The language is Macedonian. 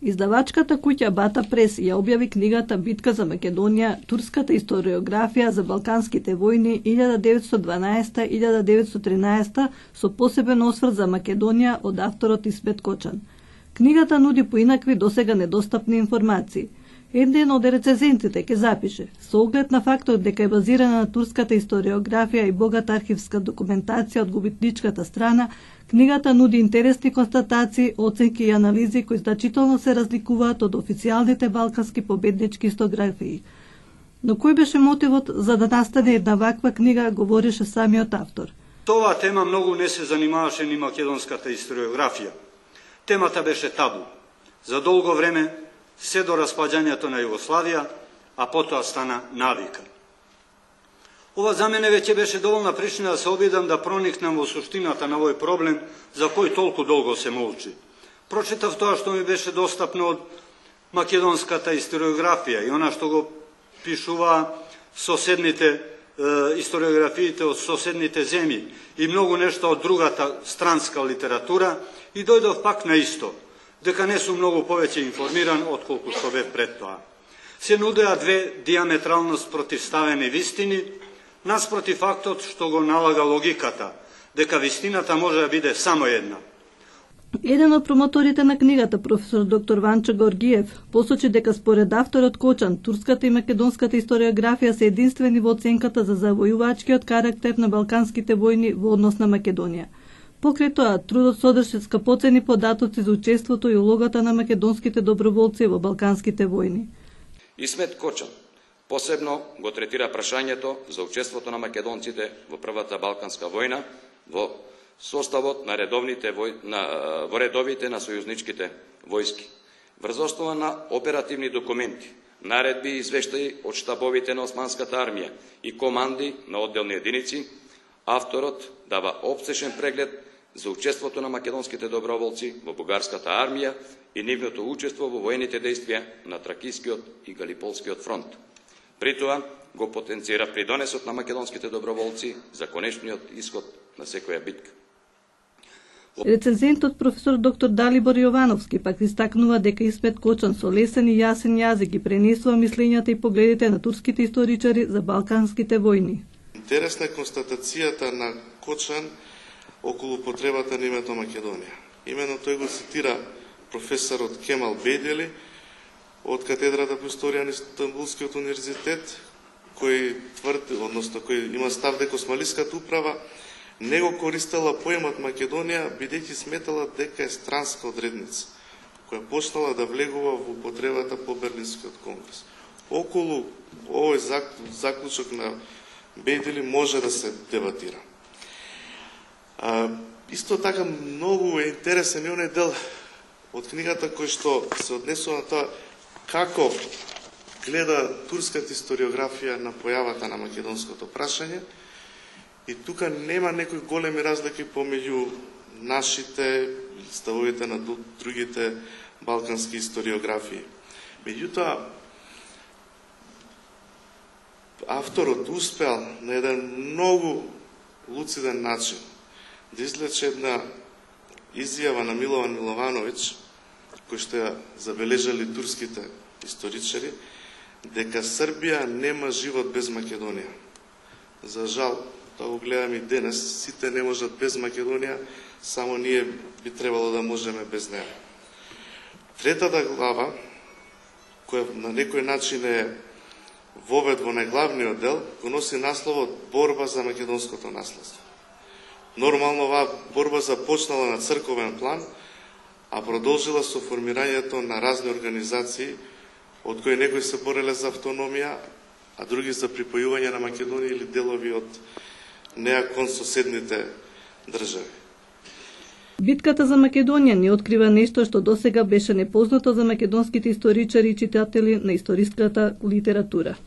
Издавачката куќа Бата Прес ја објави книгата Битка за Македонија, турската историографија за Балканските војни 1912-1913 со посебен осврт за Македонија од авторот Исмет Кочан. Книгата нуди поинакви досега недостапни информации. Еден од рецензентите ке запише: со оглед на фактот дека е базирана на турската историографија и богата архивска документација од губитничката страна, книгата нуди интересни констатации, оценки и анализи кои значително се разликуваат од официјалните балкански победнички историграфии. Но кој беше мотивот за да настане една ваква книга, говореше самиот автор. Тоа тема многу не се занимаваше ни македонската историографија. Темата беше табу. За долго време се до распаѓањето на Југославија, а потоа стана навика. Ова за мене веќе беше доволна причина да се обидам да проникнам во суштината на овој проблем за кој толку долго се молчи. Прочитав тоа што ми беше достапно од македонската историографија и она што го пишува соседните историографиите од соседните земји и многу нешто од другата странска литература и дојдов пак на исто, дека не сум многу повеќе информиран од колку што бев пред тоа. Се нудеа две диаметрално спротивставени вистини, наспроти фактот што го налага логиката, дека вистината може да биде само една. Еден од промоторите на книгата, професор доктор Ванчо Горгиев, посочи дека според авторот Кочан, турската и македонската историографија се единствени во оценката за завојувачкиот карактер на балканските војни во однос на Македонија. Покрај тоа, трудот содржи скапоцени податоци за учеството и улогата на македонските доброволци во балканските војни. Исмет Кочан посебно го третира прашањето за учеството на македонците во првата балканска војна во составот на во редовите на сојузничките војски. Врз основа на оперативни документи, наредби и извештаи од штабовите на Османската армија и команди на одделни единици, авторот дава опсешен преглед за учеството на македонските доброволци во бугарската армија и нивното учество во воените действија на Тракискиот и Галиполскиот фронт. При тоа го потенцира придонесот на македонските доброволци за конечниот исход на секоја битка. Рецензентот професор доктор Далибор Јовановски пак истакнува дека Исмет Кочан со лесен и јасен јазик ги пренесува мислењата и погледите на турските историчари за балканските војни. Интересна е констатацијата на Кочан околу потребата на името Македонија. Именно тој го цитира професорот Кемал Бейдели од катедрата по историја на Истанбулскиот универзитет, кој тврди, односно кој има став дека Османлиската управа не го користела поемот Македонија, бидејќи сметала дека е странска одредница, која почнала да влегува во потребата по Берлинскиот конгрес. Околу овој заклучок на Бейдели може да се дебатира. Исто така многу е интересен и оној дел од книгата кој што се однесува на тоа како гледа турската историографија на појавата на македонското прашање. И тука нема некои големи разлики помеѓу нашите ставовите на другите балкански историографии. Меѓутоа, авторот успел на еден многу луциден начин да извлече една изјава на Милован Миловановиќ, кој што ја забележали турските историчари, дека Србија нема живот без Македонија. За жал, тоа го гледаме и денес, сите не можат без Македонија, само ние би требало да можеме без неа. Третата глава, која на некој начин е вовед во најглавниот дел, го носи насловот Борба за македонското наследство. Нормално оваа борба започнала на црковен план, а продолжила со формирањето на разни организации, од кои некои се бореле за автономија, а други за припојување на Македонија или делови од неа кон соседните држави. Битката за Македонија ни открива нешто што досега беше непознато за македонските историчари и читатели на историската литература.